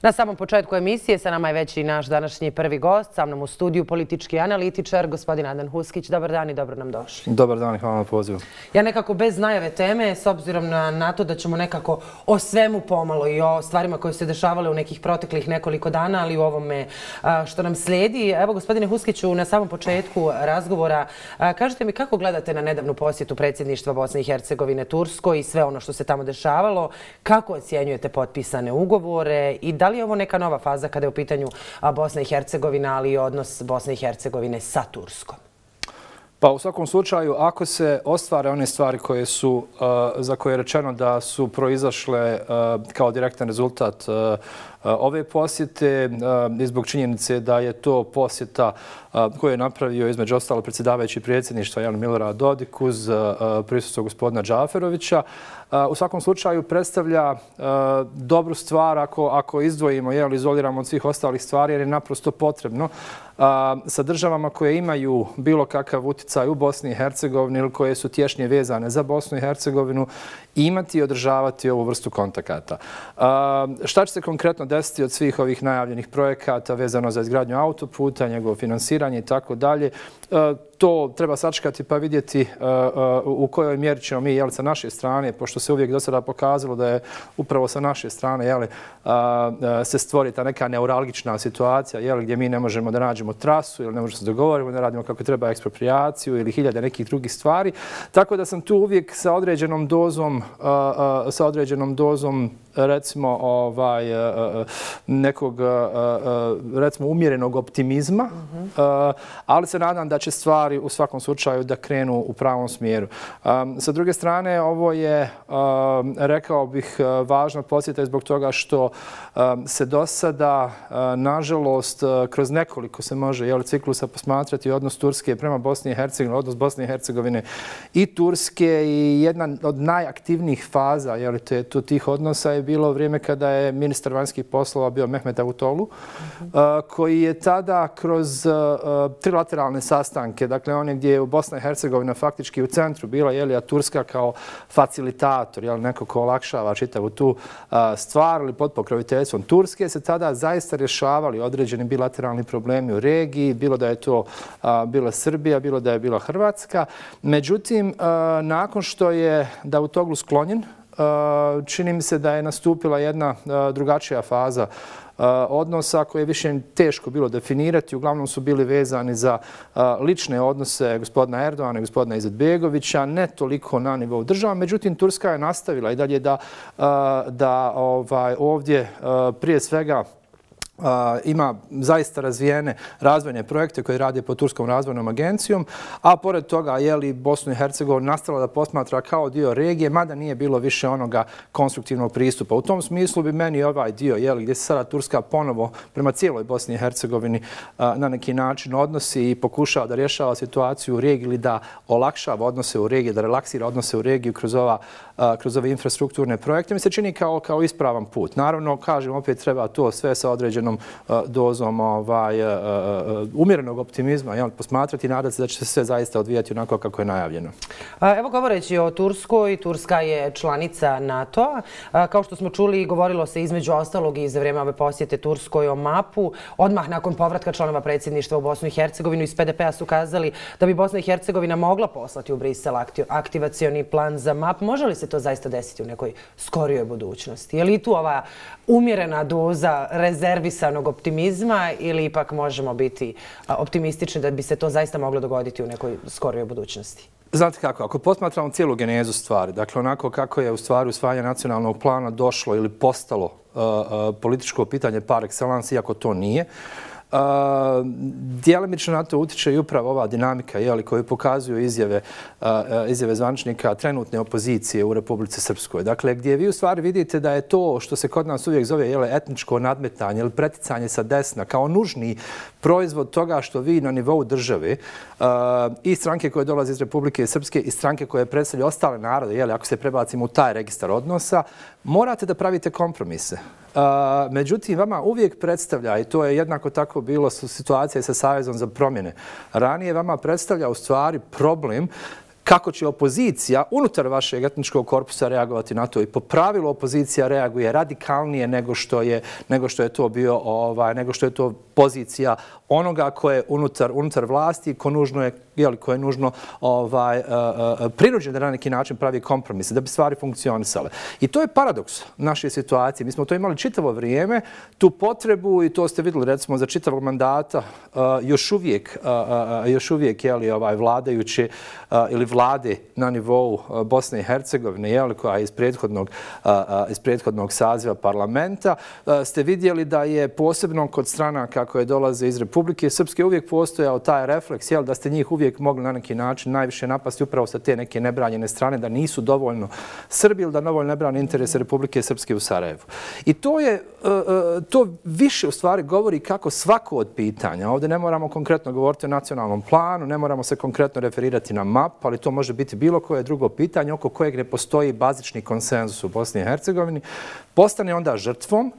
Na samom početku emisije sa nama je već i naš današnji prvi gost, sa mnom u studiju politički analitičar, gospodin Adnan Huskić. Dobar dan i dobro nam došli. Dobar dan i hvala na pozivu. Ja nekako bez najave teme, s obzirom na to da ćemo nekako o svemu pomalo i o stvarima koje su se dešavale u nekih proteklih nekoliko dana, ali u ovome što nam slijedi. Evo, gospodine Huskiću, na samom početku razgovora, kažete mi kako gledate na nedavnu posjetu predsjedništva Bosne i Hercegovine Turskoj i sve ono što se tamo dešavalo, kako ocjenjujete potpisane ugovore i da li je ovo neka nova faza kada je u pitanju Bosna i Hercegovina, ali i odnos Bosne i Hercegovine sa Turskom? Pa u svakom slučaju, ako se ostvare one stvari za koje je rečeno da su proizašle kao direktan rezultat ove posjete i zbog činjenice da je to posjeta koju je napravio između ostalo predsjedavajući predsjedništva Jan Milorad Dodik uz prisustvo gospodina Džaferovića, u svakom slučaju predstavlja dobru stvar ako izdvojimo, izoliramo od svih ostalih stvari jer je naprosto potrebno sa državama koje imaju bilo kakav utjecaj u Bosni i Hercegovini ili koje su tješnje vezane za Bosnu i Hercegovinu imati i održavati ovu vrstu kontakata. Šta će se konkretno desiti od svih ovih najavljenih projekata vezano za izgradnju autoputa, njegovo finansiranje i tako dalje? To treba sačekati pa vidjeti u kojoj mjeri ćemo mi sa naše strane, pošto se uvijek do sada pokazalo da je upravo sa naše strane se stvori ta neka neuralgična situacija gdje mi ne možemo da nađemo trasu ili ne možemo se dogovoriti, da radimo kako treba eksproprijaciju ili hiljade nekih drugih stvari. Tako da sam tu uvijek sa određenom dozom recimo nekog recimo umjerenog optimizma, ali se nadam da će stvari u svakom slučaju da krenu u pravom smjeru. Sa druge strane, ovo je, rekao bih, važna posjeta zbog toga što se do sada, nažalost, kroz nekoliko se može ciklusa posmatrati odnos Turske prema Bosni i Hercegovini, odnos Bosne i Hercegovine i Turske i jedna od najaktivnijih faza tih odnosa je bilo vrijeme kada je ministar vanjskih poslova bio Mehmet Davutoglu, koji je tada kroz trilateralne sastanke, dakle one gdje je Bosna i Hercegovina faktički u centru bila, a Turska kao facilitator, neko ko olakšava čitavu tu stvar ili pod pokroviteljstvom Turske, se tada zaista rješavali određeni bilateralni problemi u regiji, bilo da je to bila Srbija, bilo da je bila Hrvatska. Međutim, nakon što je Davutoglu sklonjen, čini mi se da je nastupila jedna drugačija faza odnosa koje je više teško bilo definirati. Uglavnom su bili vezani za lične odnose gospodina Erdogana i gospodina Izetbegovića, ne toliko na nivou država. Međutim, Turska je nastavila i dalje da ovdje prije svega ima zaista razvijene razvojne projekte koje rade pod Turskom razvojnom agencijom, a pored toga Bosnu i Hercegovinu nastavila da posmatra kao dio regije, mada nije bilo više onoga konstruktivnog pristupa. U tom smislu bi meni ovaj dio gdje se sada Turska ponovo prema cijeloj Bosni i Hercegovini na neki način odnosi i pokušava da rješava situaciju u regiji ili da olakšava odnose u regiji, da relaksira odnose u regiju kroz ove infrastrukturne projekte, mi se čini kao ispravan put. Naravno, kažem, opet treba to sve sa određenom dozom umjerenog optimizma posmatrati i nadati se da će se sve zaista odvijati onako kako je najavljeno. Evo, govoreći o Turskoj, Turska je članica NATO-a. Kao što smo čuli, govorilo se između ostalog i za vrijeme ove posjete Turskoj o mapu. Odmah nakon povratka članova predsjedništva u Bosnu i Hercegovinu iz PDP-a su kazali da bi Bosna i Hercegovina mogla poslati u Brisel aktivacioni plan za map. Može li se to zaista desiti u nekoj skorijoj budućnosti? Je li tu ova umjerena doza rezervisanog optimizma ili ipak možemo biti optimistični da bi se to zaista moglo dogoditi u nekoj skorijoj budućnosti? Znate kako, ako posmatramo cijelu genezu stvari, dakle onako kako je u stvari usvajanje nacionalnog plana došlo ili postalo političko pitanje par excellence, iako to nije, djelimično na to utječe i upravo ova dinamika koju pokazuju izjave zvaničnika trenutne opozicije u Republici Srpskoj. Dakle, gdje vi u stvari vidite da je to što se kod nas uvijek zove etničko nadmetanje ili preticanje sa desna kao nužni proizvod toga što vi na nivou države i stranke koje dolaze iz Republike Srpske i stranke koje predstavljaju ostale narode, ako se prebacimo u taj registar odnosa, morate da pravite kompromise. Međutim, vama uvijek predstavlja, i to je jednako tako bilo situacija sa Savezom za promjene, ranije vama predstavlja u stvari problem kako će opozicija unutar vašeg etničkog korpusa reagovati na to. I po pravilu opozicija reaguje radikalnije nego što je to bio, nego što je to pozicija onoga ko je unutar vlasti, ko je nužno prinuđen da na neki način pravi kompromise, da bi stvari funkcionisale. I to je paradoks naše situacije. Mi smo to imali čitavo vrijeme, tu potrebu, i to ste vidjeli recimo za čitavog mandata, još uvijek vladajuće ili vlade na nivou Bosne i Hercegovine, koja je iz prethodnog saziva parlamenta, ste vidjeli da je posebno kod stranaka koje dolaze iz Republike Srpske uvijek postojao taj refleks, da ste njih uvijek mogli na neki način najviše napasti upravo sa te neke nebranjene strane, da nisu dovoljno Srbi ili da dovoljno ne brane interese Republike Srpske u Sarajevu. I to više u stvari govori kako svako od pitanja, ovdje ne moramo konkretno govoriti o nacionalnom planu, ne moramo se konkretno referirati na map, ali to može biti bilo koje drugo pitanje oko kojeg ne postoji bazični konsenzus u Bosni i Hercegovini, postane onda žrtvom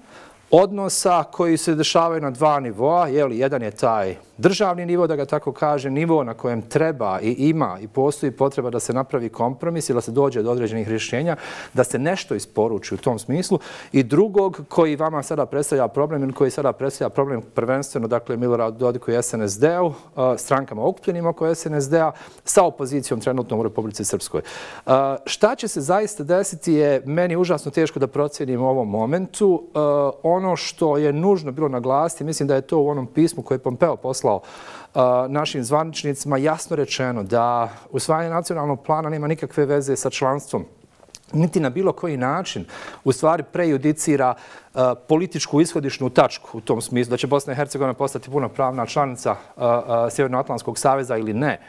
odnosa koji se dešavaju na dva nivoa. Jedan je taj državni nivo, da ga tako kaže, nivo na kojem treba i ima i postoji potreba da se napravi kompromis ili da se dođe do određenih rješenja, da se nešto isporuči u tom smislu. I drugog koji vama sada predstavlja problem ili koji sada predstavlja problem prvenstveno, dakle Miloradu Dodiku i SNSD-u, strankama okupljenim oko SNSD-a, sa opozicijom trenutno u Republici Srpskoj. Šta će se zaista desiti je meni užasno teško da procijenim u ovom momentu. Ono što je nužno bilo naglasiti, mislim da je to u onom pismu koje je Pompeo poslao našim zvaničnicima jasno rečeno da usvajanje nacionalnog plana nema nikakve veze sa članstvom, niti na bilo koji način u stvari prejudicira političku ishodišnu tačku u tom smislu da će Bosna i Hercegovina postati punopravna članica Sjevernoatlantskog saveza ili ne.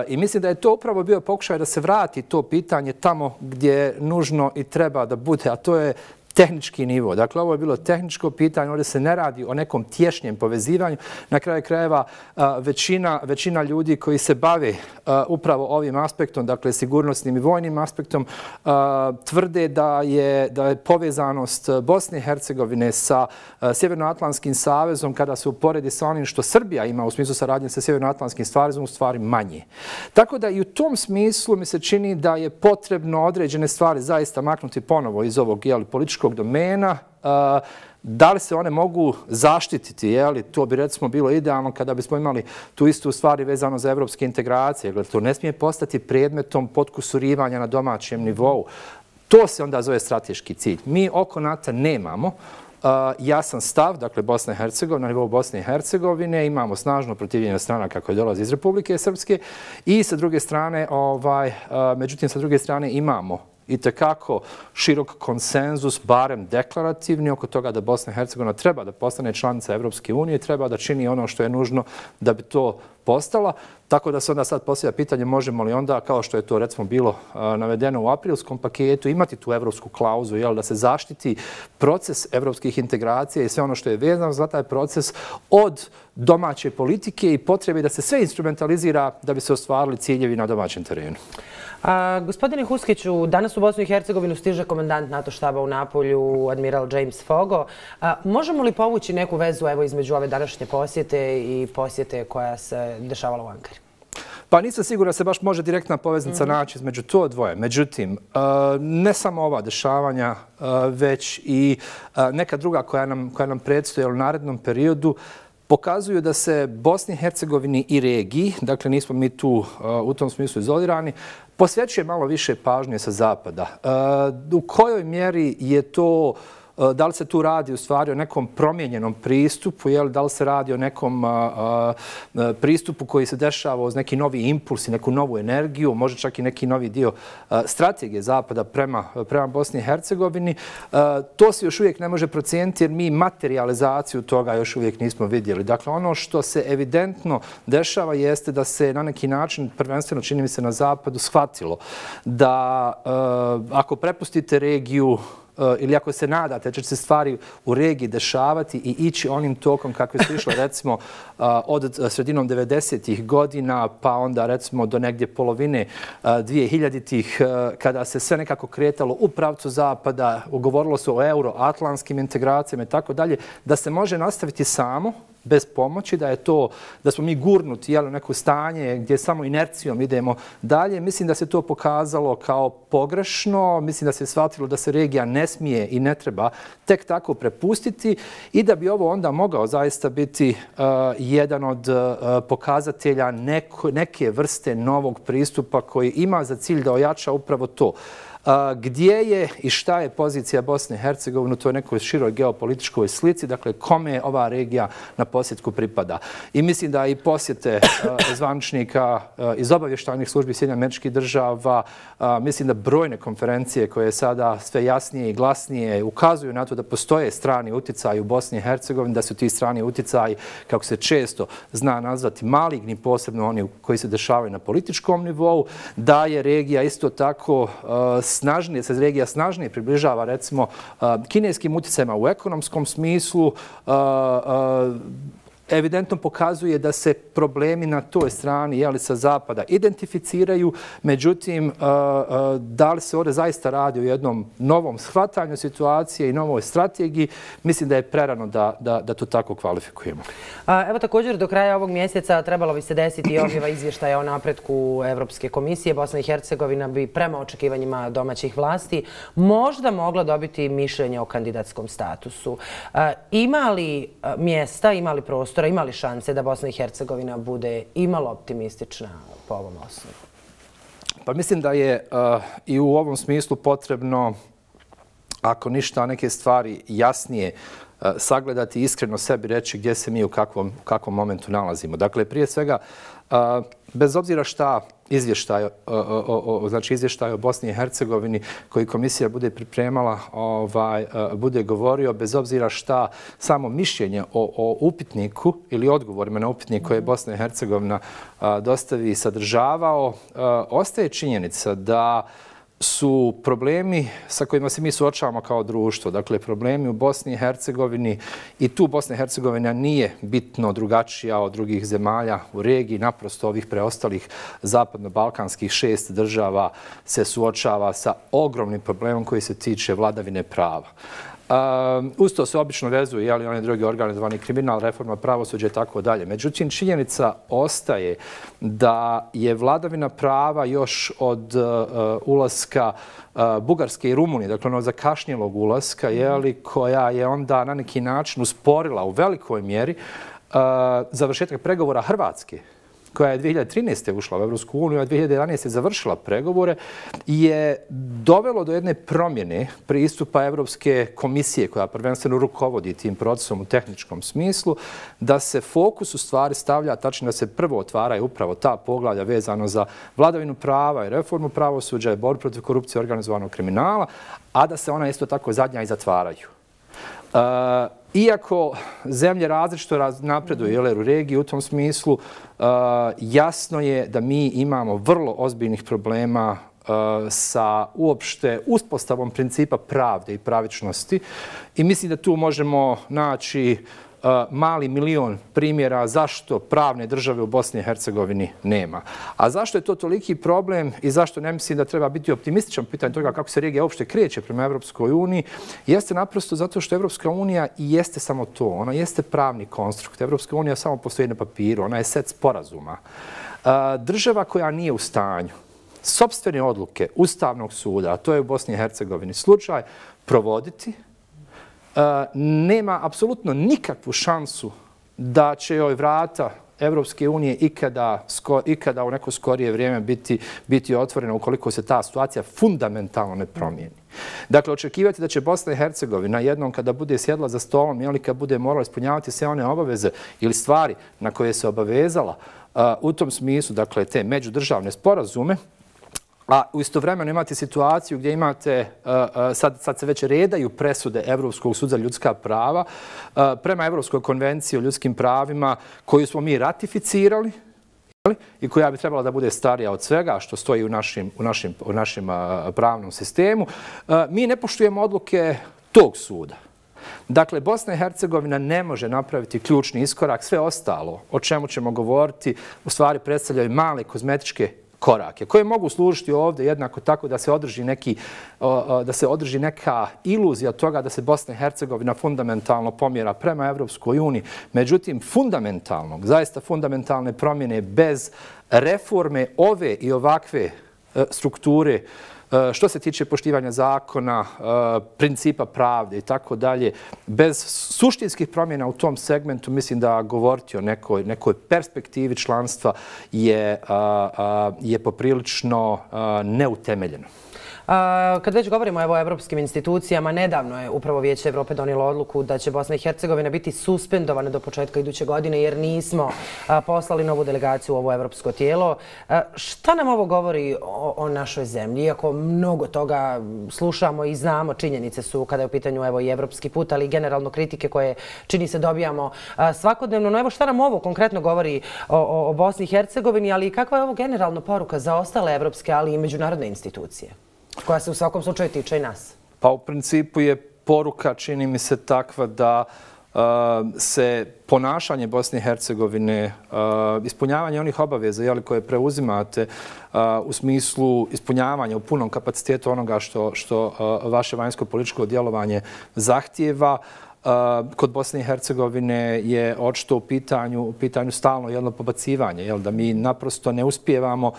I mislim da je to upravo bio pokušaj da se vrati to pitanje tamo gdje nužno i treba da bude, a to je tehnički nivo. Dakle, ovo je bilo tehničko pitanje, ovdje se ne radi o nekom tješnjem povezivanju. Na kraju krajeva većina ljudi koji se bave upravo ovim aspektom, dakle sigurnosnim i vojnim aspektom, tvrde da je povezanost Bosne i Hercegovine sa Sjevernoatlantskim savezom, kada se uporedi sa onim što Srbija ima u smislu saradnje sa Sjevernoatlantskim savezom, u stvari manje. Tako da i u tom smislu mi se čini da je potrebno određene stvari zaista maknuti ponovo iz ovog političkog domena. Da li se one mogu zaštititi? To bi recimo bilo idealno kada bismo imali tu istu stvari vezano za evropske integracije. To ne smije postati predmetom potkusurivanja na domaćem nivou. To se onda zove strateški cilj. Mi oko NATO nemamo jasan stav, dakle Bosna i Hercegovina, na nivou Bosne i Hercegovine, imamo snažno protivljenje stranaka koje dolaze iz Republike Srpske i sa druge strane, međutim sa druge strane imamo itekako širok konsenzus, barem deklarativni, oko toga da Bosna i Hercegovina treba da postane članica Evropske unije, treba da čini ono što je nužno da bi to postala. Tako da se onda sad postavlja pitanje možemo li onda, kao što je to recimo bilo navedeno u aprilskom paketu, imati tu evropsku klauzu, da se zaštiti proces evropskih integracija i sve ono što je vezano za taj proces od domaće politike i potrebe da se sve instrumentalizira da bi se ostvarili ciljevi na domaćem terenu. Gospodine Huskiću, danas u Bosnu i Hercegovinu stiže komandant NATO štaba u Napolju, admiral James Fogo. Možemo li povući neku vezu između ove današnje posjete i posjete koja se dešavala u Ankari? Pa nisam siguran da se baš može direktna poveznica naći između to dvoje. Međutim, ne samo ova dešavanja, već i neka druga koja nam predstoje u narednom periodu, pokazuju da se Bosni i Hercegovini i regiji, dakle nismo mi tu u tom smislu izolirani, posvećuje malo više pažnje sa zapada. U kojoj mjeri je to, da li se tu radi u stvari o nekom promijenjenom pristupu, da li se radi o nekom pristupu koji se dešava uz neki novi impuls i neku novu energiju, možda čak i neki novi dio strategije zapada prema Bosni i Hercegovini. To se još uvijek ne može procijeniti jer mi materializaciju toga još uvijek nismo vidjeli. Dakle, ono što se evidentno dešava jeste da se na neki način, prvenstveno čini mi se na zapadu, shvatilo da ako prepustite regiju ili ako se nadate da će se stvari u regiji dešavati i ići onim tokom kakve su išle recimo od sredinom 90-ih godina pa onda recimo do negdje polovine 2000-ih kada se sve nekako kretalo u pravcu zapada, govorilo se o euroatlantskim integracijama i tako dalje, da se može nastaviti samo bez pomoći, da smo mi gurnuti u neko stanje gdje samo inercijom idemo dalje. Mislim da se to pokazalo kao pogrešno, mislim da se shvatilo da se regija ne smije i ne treba tek tako prepustiti i da bi ovo onda mogao zaista biti jedan od pokazatelja neke vrste novog pristupa koji ima za cilj da ojača upravo to. Gdje je i šta je pozicija Bosne i Hercegovine u toj nekoj široj geopolitičkoj slici, dakle kome ova regija na posjetku pripada. I mislim da i posjete zvaničnika iz obavještajnih službi Sjedinjenih Američkih Država, mislim da brojne konferencije koje sada sve jasnije i glasnije ukazuju na to da postoje strani utjecaji u Bosni i Hercegovini, da su ti strani utjecaji, kako se često zna nazvati, maligni, posebno oni koji se dešavaju na političkom nivou, da je regija isto tako snažnije, se regija snažnije približava recimo kineskim utjecajima u ekonomskom smislu, evidentno pokazuje da se problemi na toj strani sa zapada identificiraju, međutim, da li se ovdje zaista radi o jednom novom shvatanju situacije i novoj strategiji, mislim da je prerano da to tako kvalifikujemo. Evo također do kraja ovog mjeseca trebalo bi se desiti i objava izvještaja o napretku Evropske komisije. Bosna i Hercegovina bi prema očekivanjima domaćih vlasti možda mogla dobiti mišljenje o kandidatskom statusu. Ima li mjesta, ima li prostora, ima li šanse da Bosna i Hercegovina bude imalo optimistična po ovom osnovu? Pa mislim da je i u ovom smislu potrebno, ako ništa, neke stvari jasnije sagledati i iskreno sebi reći gdje se mi u kakvom momentu nalazimo. Dakle, prije svega, bez obzira šta izvještaj o Bosni i Hercegovini koji komisija bude pripremala, bude govorio, bez obzira šta samo mišljenje o upitniku ili odgovorima na upitnik koje je Bosna i Hercegovina dostavi i sadržavao, ostaje činjenica da su problemi sa kojima se mi suočavamo kao društvo. Dakle, problemi u Bosni i Hercegovini i tu Bosna i Hercegovina nije bitno drugačija od drugih zemalja u regiji. Naprosto ovih preostalih zapadno-balkanskih 6 država se suočava sa ogromnim problemom koji se tiče vladavine prava. Uz to se obično vezuju oni drugi organizovani kriminal, reforma pravosuđa i tako dalje. Međutim, činjenica ostaje da je vladavina prava još od ulaska Bugarske i Rumunije, dakle ono zakašnjelog ulaska, koja je onda na neki način usporila u velikoj mjeri završetak pregovora Hrvatske, koja je 2013. ušla u Evropsku uniju, a 2011. završila pregovore, je dovelo do jedne promjene pristupa Evropske komisije, koja prvenstveno rukovodi tim procesom u tehničkom smislu, da se fokus u stvari stavlja, tačno da se prvo otvaraju upravo ta poglavlja vezano za vladavinu prava i reformu pravosuđa i borbu protiv korupcije i organizovanog kriminala, a da se ona isto tako zadnja i zatvaraju. Iako zemlje različito napreduju u regiji u tom smislu, jasno je da mi imamo vrlo ozbiljnih problema sa uopšte uspostavom principa pravde i pravičnosti i mislim da tu možemo naći mali milion primjera zašto pravne države u Bosni i Hercegovini nema. A zašto je to toliki problem i zašto ne mislim da treba biti optimističan pitanje toga kako se regija uopšte kreće prema Evropskoj uniji, jeste naprosto zato što Evropska unija i jeste samo to. Ona jeste pravni konstrukt. Evropska unija samo postoji na papiru. Ona je set sporazuma. Država koja nije u stanju sopstvene odluke Ustavnog suda, a to je u Bosni i Hercegovini slučaj, provoditi, nema apsolutno nikakvu šansu da će joj vrata Evropske unije ikada u neko skorije vrijeme biti otvorena ukoliko se ta situacija fundamentalno ne promijeni. Dakle, očekivati da će Bosna i Hercegovina jednom kada bude sjedla za stolom ili kad bude morala ispunjavati sve one obaveze ili stvari na koje se obavezala u tom smislu, dakle, te međudržavne sporazume, a istovremeno imate situaciju gdje imate, sad se već redaju presude Evropskog suda za ljudska prava prema Evropskoj konvenciji o ljudskim pravima koju smo mi ratificirali i koja bi trebala da bude starija od svega što stoji u našem pravnom sistemu. Mi ne poštujemo odluke tog suda. Dakle, Bosna i Hercegovina ne može napraviti ključni iskorak. Sve ostalo o čemu ćemo govoriti u stvari predstavljaju male kozmetičke korake koje mogu služiti ovdje jednako tako da se održi neka iluzija toga da se Bosna i Hercegovina fundamentalno pomjera prema Evropskoj uniji. Međutim, zaista fundamentalne promjene bez reforme ove i ovakve strukture što se tiče poštivanja zakona, principa pravde i tako dalje, bez suštinskih promjena u tom segmentu, mislim da govoriti o nekoj perspektivi članstva je poprilično neutemeljeno. Kad već govorimo o evropskim institucijama, nedavno je upravo Vijeće Evrope donijelo odluku da će Bosna i Hercegovina biti suspendovana do početka iduće godine jer nismo poslali novu delegaciju u ovo evropsko tijelo. Šta nam ovo govori o našoj zemlji? Iako mnogo toga slušamo i znamo, činjenice su kada je u pitanju i evropski put, ali i generalno kritike koje čini se dobijamo svakodnevno. No evo šta nam ovo konkretno govori o Bosni i Hercegovini, ali i kakva je ovo generalno poruka za ostale evropske, ali i međunarodne institucije, koja se u svakom slučaju tiče i nas? Pa u principu je poruka, čini mi se, takva da se ponašanje Bosne i Hercegovine, ispunjavanje onih obaveza koje preuzimate u smislu ispunjavanja u punom kapacitetu onoga što vaše vanjsko-političko djelovanje zahtijeva, kod Bosne i Hercegovine je očito u pitanju stalno jedno pobacivanje, da mi naprosto ne uspijevamo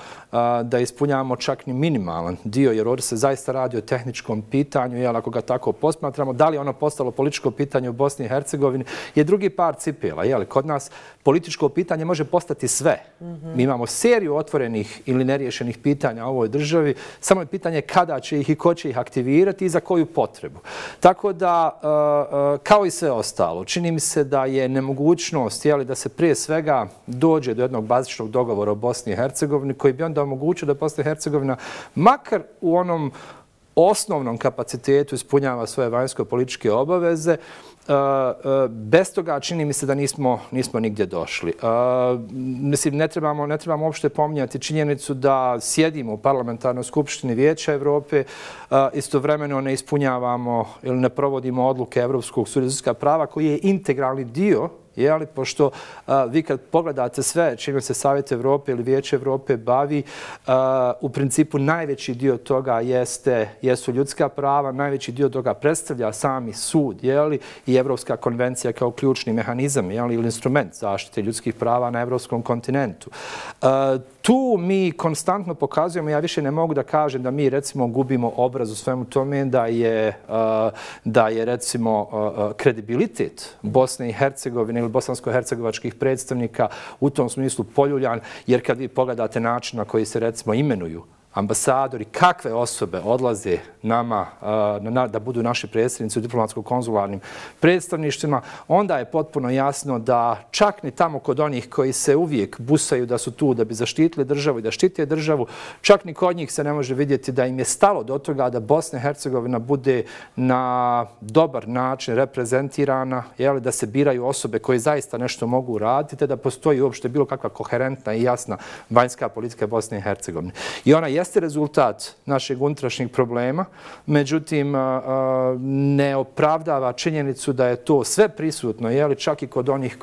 da ispunjavamo čak ni minimalan dio, jer ovdje se zaista radi o tehničkom pitanju, ako ga tako posmatramo. Da li ono postalo političko pitanje u Bosni i Hercegovini je drugi par cipela. Kod nas političko pitanje može postati sve. Mi imamo seriju otvorenih ili neriješenih pitanja u ovoj državi, samo je pitanje kada će ih i ko će ih aktivirati i za koju potrebu. Tako da, kao i sve ostalo, čini mi se da je nemogućnost da se prije svega dođe do jednog bazičnog dogovora o Bosni i Hercegovini koji bi onda omogućio da Bosna i Hercegovina makar u onom osnovnom kapacitetu ispunjava svoje vanjsko-političke obaveze. Bez toga čini mi se da nismo nigdje došli. Mislim, ne trebamo uopšte pominjati činjenicu da sjedimo u Parlamentarnoj skupštini Vijeća Evrope, istovremeno ne ispunjavamo ili ne provodimo odluke Evropskog suda za ljudska prava koji je integralni dio, pošto vi kad pogledate sve čime se Savjet Evrope ili Vijeće Evrope bavi, u principu najveći dio toga jesu ljudska prava, najveći dio toga predstavlja sami sud i Evropska konvencija kao ključni mehanizam ili instrument zaštite ljudskih prava na evropskom kontinentu. Tu mi konstantno pokazujemo, ja više ne mogu da kažem da mi recimo gubimo obraz u svemu tome, da je recimo kredibilitet Bosne i Hercegovine ili bosansko-hercegovačkih predstavnika u tom smislu poljuljan, jer kad vi pogledate način na koji se recimo imenuju ambasadori, kakve osobe odlaze nama da budu naši predstavnici u diplomatsko-konzularnim predstavništvima, onda je potpuno jasno da čak ni tamo kod onih koji se uvijek busaju da su tu da bi zaštitili državu i da štite državu, čak ni kod njih se ne može vidjeti da im je stalo do toga da Bosna i Hercegovina bude na dobar način reprezentirana, da se biraju osobe koje zaista nešto mogu raditi, te da postoji uopšte bilo kakva koherentna i jasna vanjska politika Bosne i Hercegovine. I ona jeste rezultat našeg unutrašnjeg problema, međutim ne opravdava činjenicu da je to sve prisutno, čak i kod onih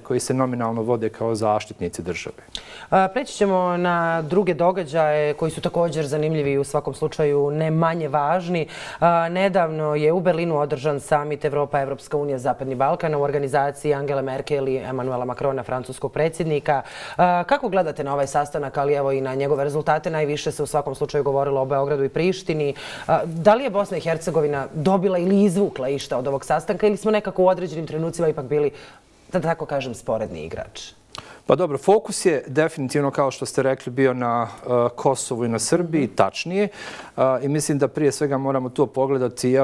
koji se nominalno vode kao zaštitnici države. Preći ćemo na druge događaje koji su također zanimljivi i u svakom slučaju ne manje važni. Nedavno je u Berlinu održan samit Evropa-Evropska unija Zapadni Balkan u organizaciji Angele Merkel i Emanuela Macrona, francuskog predsjednika. Kako gledate na ovaj sastanak, ali evo i na njegove rezultate? Najviše se u svakom slučaju govorilo o Beogradu i Prištini. Da li je Bosna i Hercegovina dobila ili izvukla išta od ovog sastanka ili smo nekako u određenim trenucima ipak bili, da tako kažem, sporedni igrač? Pa dobro, fokus je definitivno, kao što ste rekli, bio na Kosovu i na Srbiji, tačnije. I mislim da prije svega moramo to pogledati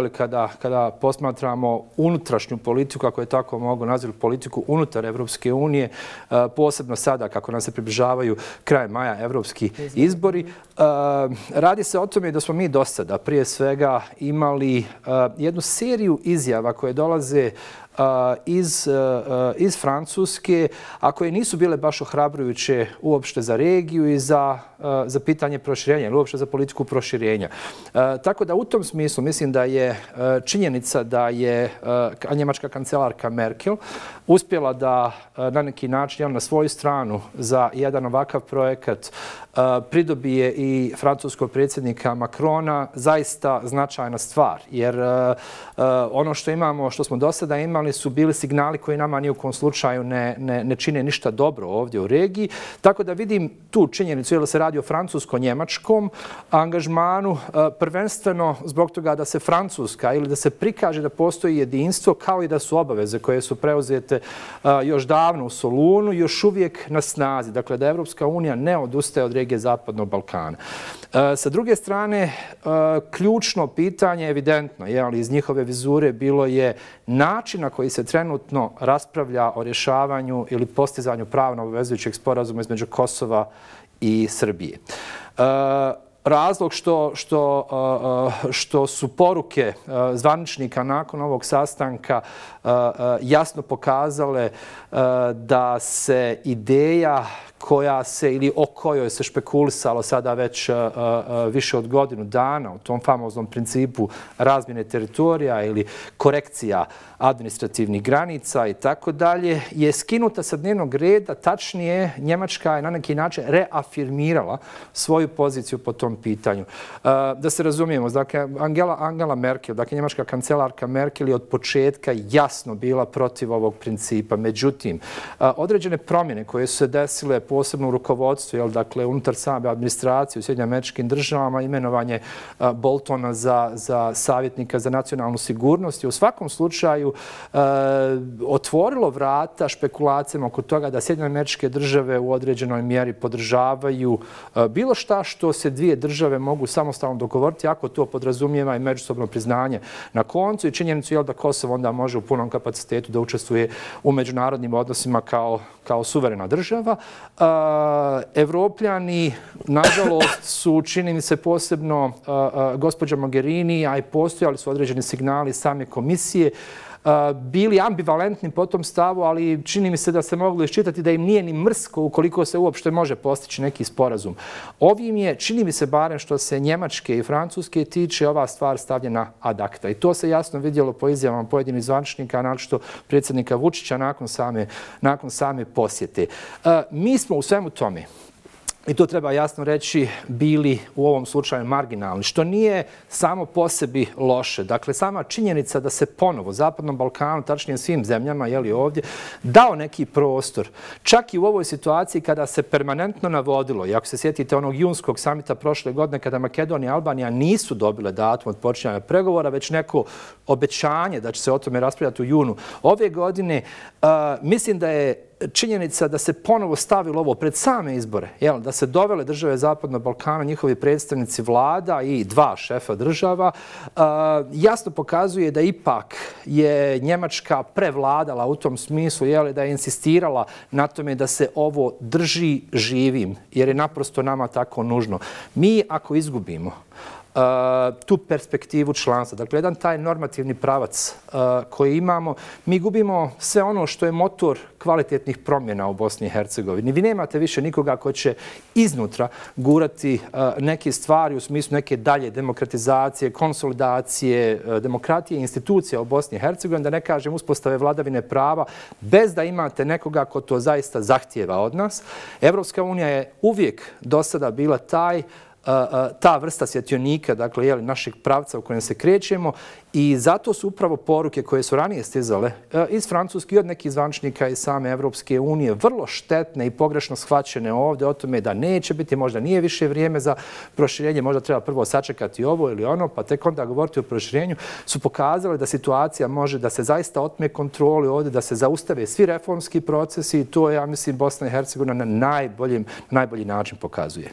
kada posmatramo unutrašnju politiku, ako je tako mogu nazvati, politiku unutar Evropske unije, posebno sada kako nam se približavaju kraj maja evropski izbori. Radi se o tome da smo mi do sada prije svega imali jednu seriju izjava koje dolaze iz Francuske, a koje nisu bile baš ohrabrujuće uopšte za regiju i za pitanje proširenja ili uopšte za politiku proširenja. Tako da u tom smislu mislim da je činjenica da je njemačka kancelarka Merkel uspjela da na neki način na svoju stranu za jedan ovakav projekat pridobije i francuskog predsjednika Macrona zaista značajna stvar. Jer ono što imamo, što smo do sada imali su bili signali koji nama ni u kom slučaju ne čine ništa dobro ovdje u regiji. Tako da vidim tu činjenicu, jer se radi o francusko-njemačkom angažmanu, prvenstveno zbog toga da se Francuska ili da se prikaže da postoji jedinstvo, kao i da su obaveze koje su preuzete još davno u Solunu, još uvijek na snazi. Dakle, da Evropska unija ne odustaje od regije Zapadnog Balkana. Sa druge strane, ključno pitanje, evidentno, ali iz njihove vizure bilo je način na koji se trenutno raspravlja o rješavanju ili postizanju pravno obvezujućeg sporazuma između Kosova i Srbije. Razlog što su poruke zvaničnika nakon ovog sastanka jasno pokazale da se ideja koja se ili o kojoj se špekulisalo sada već više od godinu dana u tom famoznom principu razmjene teritorija ili korekcija administrativnih granica i tako dalje, je skinuta sa dnevnog reda. Tačnije, Njemačka je na neki način reafirmirala svoju poziciju po tom pitanju. Da se razumijemo, dakle, Angela Merkel, dakle, njemačka kancelarka Merkel je od početka jasno bila protiv ovog principa. Međutim, određene promjene koje su se desile posebno u rukovodstvu, dakle, unutar same administracije u Sjedinjenim Američkim Državama, imenovanje Boltona za savjetnika za nacionalnu sigurnost je u svakom slučaju otvorilo vrata špekulacijama oko toga da Sjedinjene Američke Države u određenoj mjeri podržavaju bilo šta što se dvije države mogu samostalno dogovoriti, ako to podrazumijeva i međusobno priznanje na koncu i činjenicu da Kosovo onda može u punom kapacitetu da učestvuje u međunarodnim odnosima kao suverena država. Evropljani, nažalost, su, čini mi se posebno gospođa Mogherini, a i postojali su određeni signali same komisije, bili ambivalentni po tom stavu, ali čini mi se da se moglo iščitati da im nije ni mrsko ukoliko se uopšte može postići neki sporazum. Ovim je, čini mi se barem što se Njemačke i Francuske tiče, ova stvar stavljena ad acta. I to se jasno vidjelo po izjavama pojedinih zvaničnika, naročito predsjednika Vučića nakon same posjete. Mi smo u svemu tome, i to treba jasno reći, bili u ovom slučaju marginalni, što nije samo po sebi loše. Dakle, sama činjenica da se ponovo Zapadnom Balkanu, tačnije svim zemljama, ovdje, dao neki prostor. Čak i u ovoj situaciji kada se permanentno navodilo, i ako se sjetite onog junskog samita prošle godine, kada Makedonija i Albanija nisu dobile datum od počinjanja pregovora, već neko obećanje da će se o tome raspravljati u junu ove godine, mislim da je činjenica da se ponovo stavilo ovo pred same izbore, da se dovele države Zapadnog Balkana, njihovi predstavnici vlada i dva šefa država, jasno pokazuje da ipak je Njemačka prevladala u tom smislu, da je insistirala na tome da se ovo drži živim, jer je naprosto nama tako nužno. Mi ako izgubimo tu perspektivu članstva, dakle, jedan taj normativni pravac koji imamo, mi gubimo sve ono što je motor kvalitetnih promjena u Bosni i Hercegovini. Vi nemate više nikoga ko će iznutra gurati neke stvari u smislu neke dalje demokratizacije, konsolidacije, demokratije i institucija u Bosni i Hercegovini, da ne kažem uspostave vladavine prava, bez da imate nekoga ko to zaista zahtijeva od nas. Evropska unija je uvijek do sada bila ta vrsta svjetionika, dakle, našeg pravca u kojem se krećemo, i zato su upravo poruke koje su ranije stizale iz Francuske i od nekih zvaničnika iz same Evropske unije vrlo štetne i pogrešno shvaćene ovdje o tome da neće biti, možda nije više vrijeme za proširenje, možda treba prvo sačekati ovo ili ono, pa tek onda govoriti o proširenju, su pokazali da situacija može da se zaista otme kontroli ovdje, da se zaustave svi reformski procesi i to, ja mislim, Bosna i Hercegovina na najbolji način pokazuje.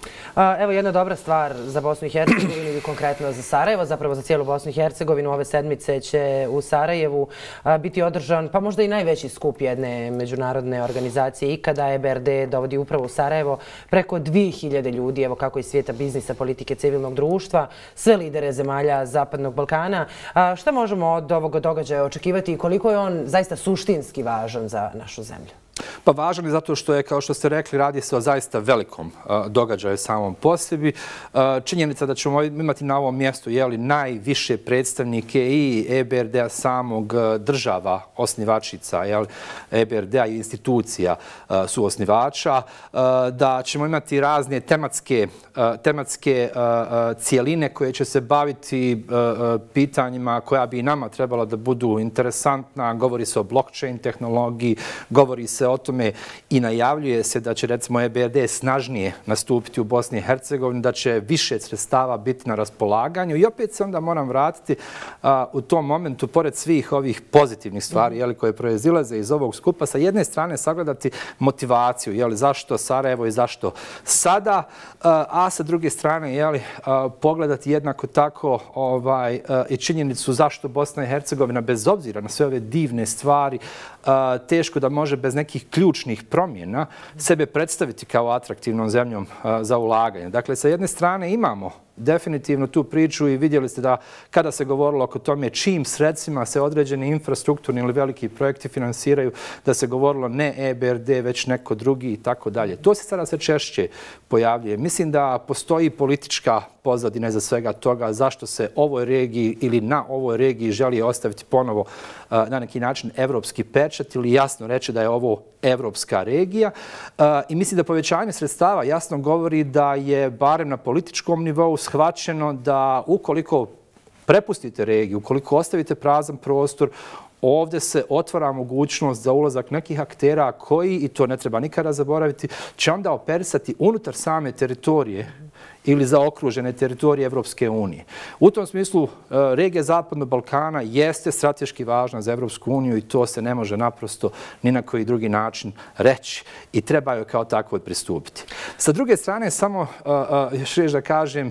Evo jedna dobra stvar za Bosnu i Hercegovinu i konkretno za Sarajevo, zapravo za cijelu Bosnu i Hercegovinu ove sedmice će u Sarajevu biti održan, pa možda i najveći skup jedne međunarodne organizacije ikada. EBRD dovodi upravo u Sarajevo preko 2000 ljudi, evo kako iz svijeta biznisa, politike, civilnog društva, sve lidere zemalja Zapadnog Balkana. Šta možemo od ovog događaja očekivati i koliko je on zaista suštinski važan za našu zemlju? Pa važan je zato što je, kao što ste rekli, radi se o zaista velikom događaju samom po sebi. Činjenica da ćemo imati na ovom mjestu najviše predstavnike i EBRD-a samog, država osnivačica, EBRD-a i institucija su osnivača, da ćemo imati razne tematske cijeline koje će se baviti pitanjima koja bi nama trebala da budu interesantna. Govori se o blockchain tehnologiji, govori se o tome i najavljuje se da će, recimo, EBRD snažnije nastupiti u Bosni i Hercegovini, da će više sredstava biti na raspolaganju. I opet se onda moram vratiti u tom momentu, pored svih ovih pozitivnih stvari koje proizilaze iz ovog skupa, sa jedne strane sagledati motivaciju, zašto Sarajevo i zašto sada, a sa druge strane pogledati jednako tako i činjenicu zašto Bosna i Hercegovina, bez obzira na sve ove divne stvari, teško da može bez nekih ključnih promjena sebe predstaviti kao atraktivnom zemljom za ulaganje. Dakle, sa jedne strane imamo definitivno tu priču i vidjeli ste da kada se govorilo oko tome čim sredstvima se određeni infrastrukturni ili veliki projekti finansiraju, da se govorilo ne EBRD, već neko drugi i tako dalje. To se sada sve češće pojavljuje. Mislim da postoji politička pozadina iza svega toga zašto se ovoj regiji ili na ovoj regiji želi ostaviti ponovo na neki način evropski pečat ili jasno reći da je ovo evropska regija. I mislim da povećanje sredstava jasno govori da je barem na političkom nivou shvaćeno da ukoliko prepustite regiju, ukoliko ostavite prazan prostor, ovdje se otvara mogućnost za ulazak nekih aktera koji, i to ne treba nikada zaboraviti, će onda operisati unutar same teritorije ili zaokružene teritorije Evropske unije. U tom smislu, regija Zapadnog Balkana jeste strateški važna za Evropsku uniju i to se ne može naprosto ni na koji drugi način reći i treba joj kao tako pristupiti. Sa druge strane, samo još reći da kažem,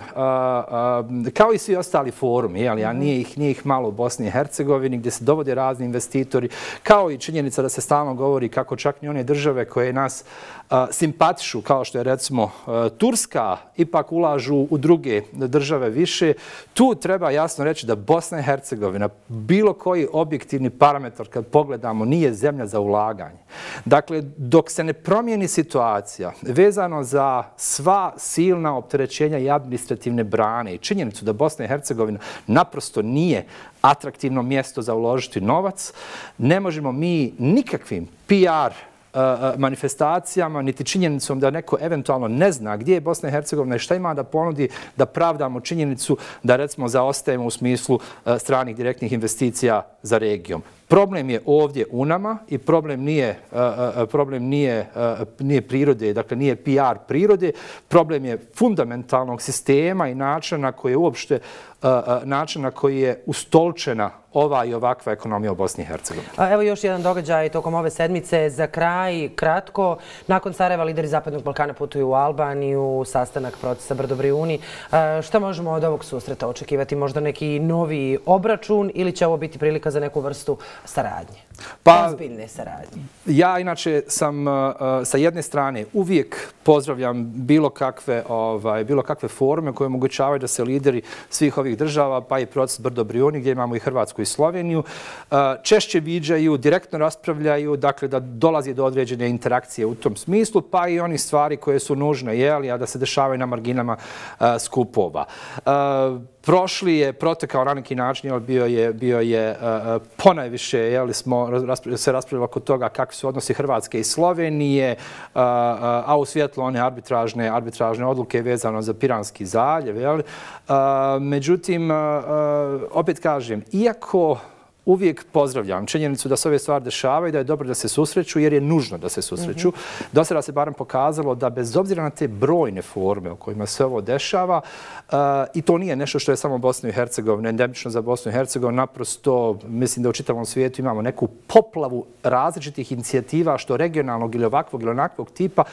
kao i svi ostali forumi, a nije ih malo u Bosni i Hercegovini, gdje se dovode razni investitori, kao i činjenica da se stalno govori kako čak i one države koje nas simpatišu, kao što je recimo Turska, ipak ulažu u druge države više. Tu treba jasno reći da Bosna i Hercegovina, bilo koji objektivni parametar kad pogledamo, nije zemlja za ulaganje. Dakle, dok se ne promijeni situacija vezano za sva silna opterećenja i administrativne brane i činjenicu da Bosna i Hercegovina naprosto nije atraktivno mjesto za uložiti novac, ne možemo mi nikakvim PR manifestacijama, niti činjenicom da neko eventualno ne zna gdje je Bosna i Hercegovina i šta ima da ponudi, da pravdamo činjenicu da, recimo, zaostajemo u smislu stranih direktnih investicija za regijom. Problem je ovdje u nama i problem nije prirode, dakle nije PR prirode, problem je fundamentalnog sistema i načina na koji je ustolčena ova i ovakva ekonomija u Bosni i Hercegovini. Evo još jedan događaj tokom ove sedmice. Za kraj, kratko, nakon Sarajeva lideri Zapadnog Balkana putuju u Albaniju, sastanak procesa Brdo-Brijuni. Šta možemo od ovog susreta očekivati? Možda neki novi obračun ili će ovo biti prilika za neku vrstu saradnje? Ozbiljne saradnje. Ja inače sam sa jedne strane uvijek pozdravljam bilo kakve forume koje omogućavaju da se lideri svih ovih država, pa i proces Brdo-Brijuni, gdje imamo i Hrvatsku i Sloveniju, češće viđaju, direktno raspravljaju, dakle da dolazi do određene interakcije u tom smislu, pa i oni stvari koje su nužne, a da se dešavaju na marginama skupova. Prošli je protekao na neki način, bio je ponajviše, smo se raspravljali oko toga kakvi su odnosi Hrvatske i Slovenije, a u svjetlu one arbitražne odluke vezano za Piranski zaljev. Međutim, opet kažem, iako uvijek pozdravljam činjenicu da se ove stvari dešavaju i da je dobro da se susreću jer je nužno da se susreću. Do sada se barem pokazalo da bez obzira na te brojne forme u kojima se ovo dešava, i to nije nešto što je samo Bosna i Hercegovina, endemično za Bosnu i Hercegovinu, naprosto mislim da u čitavom svijetu imamo neku poplavu različitih inicijativa što regionalnog ili ovakvog ili onakvog tipa.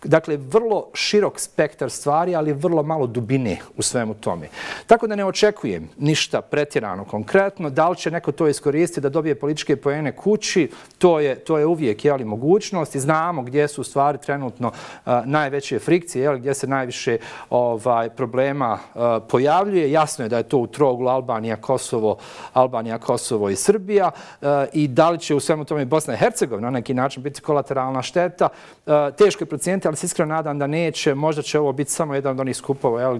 Dakle, vrlo širok spektar stvari, ali vrlo malo dubine u svemu tome. Tako da ne očekujem ništa pretjerano konkretno. Da li će neko to iskoristiti da dobije političke poene kući, to je uvijek mogućnost i znamo gdje su stvari trenutno najveće frikcije, gdje se najviše problema pojavljuje. Jasno je da je to u trouglu Albanija, Kosovo i Srbija i da li će u svemu tome Bosna i Hercegovina na neki način biti kolateralna šteta. Teško je procijeniti, ali se iskreno nadam da neće. Možda će ovo biti samo jedan od onih skupova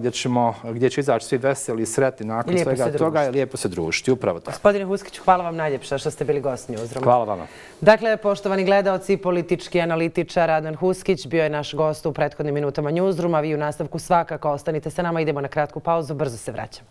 gdje će izaći svi veseli i sretni nakon svega toga i lijepo se družiti. Upravo tako. Gospodine Huskiću, hvala vam najljepša što ste bili gost Newsrooma. Hvala vama. Dakle, poštovani gledaoci, politički analitičar Adnan Huskić bio je naš gost u prethodnim minutama Newsrooma. Vi u nastavku svakako ostanite sa nama. Idemo na kratku pauzu, brzo se vraćamo.